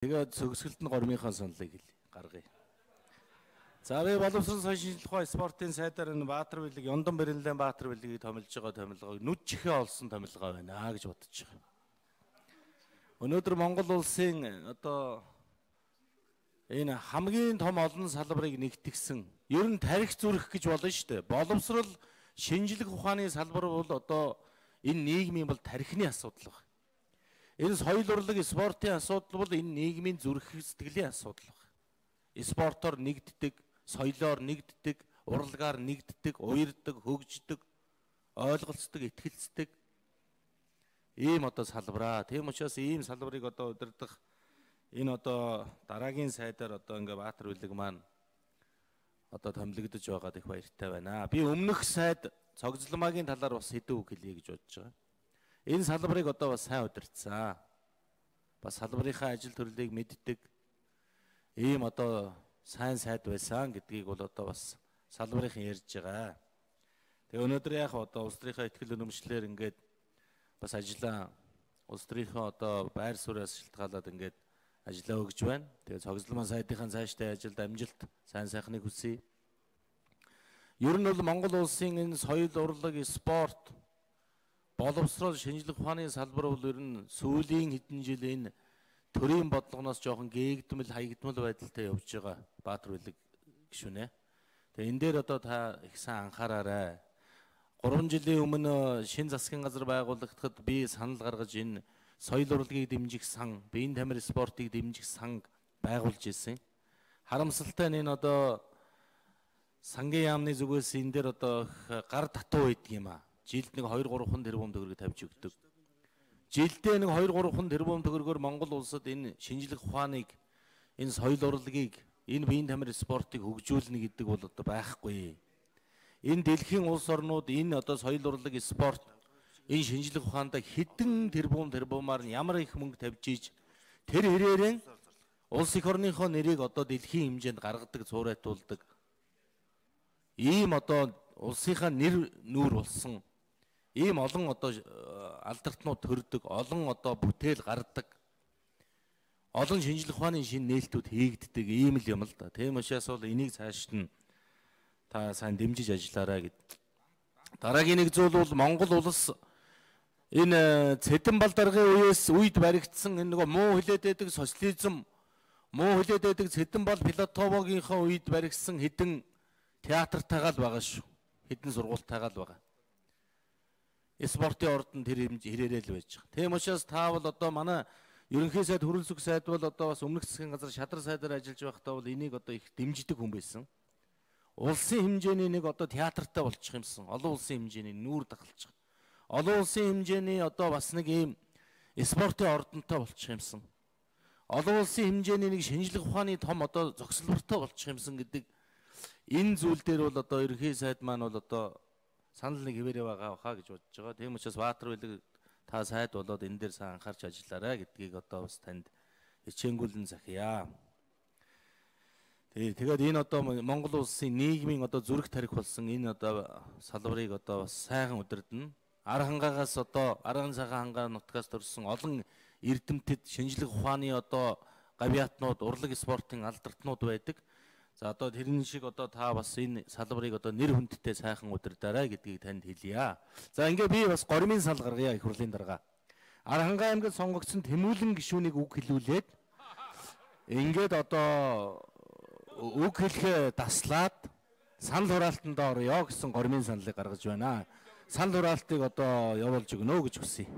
Тэгээд зөвсгөлд нь гормынхаа саналыг гаргая. За би боловсрол соёлын шинжилгээ ухаан спортын сайдаар энэ Баатар билег, Ёндан Бэрэнлэн Баатар билегийг томилж байгаа томилгоог нүд чихээ олсон томилгоо байна гэж бодож байгаа. Өнөөдөр Монгол улсын одоо энэ хамгийн том олон салбарыг нэгтгэсэн ер нь тарих зүрх гэж болно шүү дээ. Боловсрол шинжилгээ ухааны салбар бол одоо энэ нийгмийн бол тарихны асуудал байна. Энэ соёл урлаг спортын асуудал бол энэ нийгмийн зүрх сэтгэлийн асуудал байна. Спортоор нэгддэг, соёлоор нэгддэг, урлагаар нэгддэг, уярддаг, хөгждөг, ойлголцдог, итгэлцдэг ийм одоо салбараа. Тийм учраас ийм салбарыг одоо удирдах энэ одоо дараагийн сайдаар одоо ингээ Баатар билег маань одоо томилогдож байгаад их баяртай байна. Би өмнөх сайд цогцломаагийн талаар бас хэдэн үг хэлье гэж бодож байгаа. Энэ салбарыг одоо бас сайн удирдсан. Бас салбарынхаа ажил төрлийг мэддэг ийм одоо сайн сайд байсан гэдгийг бол одоо бас салбарынхан ярьж байгаа. Тэгээ өнөөдөр яг одоо улс төрийнхаа ихтгэл үнэмшлэр ингээд бас ажиллаа улс төрийнхөө одоо байр сууриас шилтгаалаад ингээд ажиллаа өгж байна. Тэгээ цогцломаа сайдынхаа цаашдаа ажилд амжилт, сайн сайхныг хүсье. Ер нь бол Монгол улсын энэ соёл, урлаг, спорт, боловсрол, шинжилгээ ухааны салбар бол ер нь сүүлийн хэдэн жил энэ төрийн бодлогоноос жоохон гээгдмэл, хаягдмал байдалтай явж байгаа Баатар билег гишүүнэ. Тэгээ энэ дээр одоо та их сайн анхаараарай. 3 жилийн өмнө шинэ засгийн газар байгуулагдахад би санал гаргаж энэ соёл урлагийг дэмжих сан, биеийн тамир спортыг дэмжих сан байгуулж ирсэн. Харамсалтай нь энэ одоо сангийн яамны зүгээс энэ дээр одоо гар татуу байдаг юм а. Жилд нэг 2-3 тэрбум төгрөг тавьж өгдөг. Жилдээ нэг 2-3 тэрбум төгрөгөөр Монгол улсад энэ шинжилгээ ухааныг, энэ соёл урлагийг, энэ биеийн тамир спортыг хөгжүүлнэ гэдэг бол одоо байхгүй. Энэ дэлхийн улс орнууд энэ одоо соёл урлаг, спорт, энэ шинжилгээ ухаанд хэдэн тэрбумаар ямар их мөнгө тавьж ийж тэр хэрээрээ улс их орныхоо нэрийг одоо дэлхийн хэмжээнд гаргадаг, цуурайтуулдаг. Ийм одоо улсынхаа нэр нүүр болсон ийм олон одоо алдартнууд төрдөг, олон одоо бүтээл гардаг, олон шинжилгээ ухааны шинэ нээлтүүд хийгддэг ийм л юм л да. Тийм учраас бол энийг цааш нь та сайн дэмжиж ажиллаарай гэд. Дараагийн нэг зүйл бол Монгол улс энэ Цэдэн балдаргын үед баригдсан энэ нөгөө муу хилээд байдаг социализм, муу хилээд байдаг Цэдэн бал Платоновынхаа үед баригдсан хэдэн театртайгаа л байгаа шүү. Хэдэн сургуультайгаа л байгаа. Спортын ордон тэр хэрээрээ л байж байгаа. Тийм учраас та бол одоо манай ерөнхий сайд, хөрөлс өх сайд бол одоо бас өмнөх засгийн газар шадар сайдаар ажиллаж байхдаа бол энийг одоо их дэмждэг хүн байсан. Улсын хэмжээний нэг одоо театртай болчих юмсан. Олон улсын хэмжээний нүүр дахалж байгаа. Олон улсын хэмжээний одоо бас нэг ийм спортын ордонтой болчих юмсан. Олон улсын хэмжээний нэг шинжилгээ ухааны том одоо зогсолбортой болчих юмсан гэдэг энэ зүйл дээр бол одоо ерөнхий сайд маань бол одоо санал нэг хэвээрээ байгаа хаа гэж бодож байгаа. Тийм учраас Баатар билег та сайд болоод энэ дээр сайн анхаарч ажиллаарай гэдгийг одоо бас танд хичээнгүүлэн захиа. Тэгээд энэ одоо Монгол улсын нийгмийн одоо зүрх тарих болсон энэ одоо салбарыг одоо бас сайхан удирдна. Ар хангаагаас одоо арган цагаан хангаа нутгаас төрсэн олон эрдэмтэд шинжилгээ ухааны одоо гавьяатнууд, урлаг спортын алдартнууд байдаг. За одоо тэрний шиг одоо та бас энэ салбарыг одоо нэр хүндтэй сайхан удирдаарай гэдгийг танд хэлье. За ингээ би бас гормын сал гаргая их хурлын дарга. Ар хангаа аймагт сонгогдсон Тэмүүлэн гишүүнийг үг хэлүүлээд ингээд одоо үг хэлэхээ таслаад санал хураалтанд орё гэсэн гормын саналыг гаргаж байна. Санал хураалтыг одоо явуулж өгнө гэж хүсье.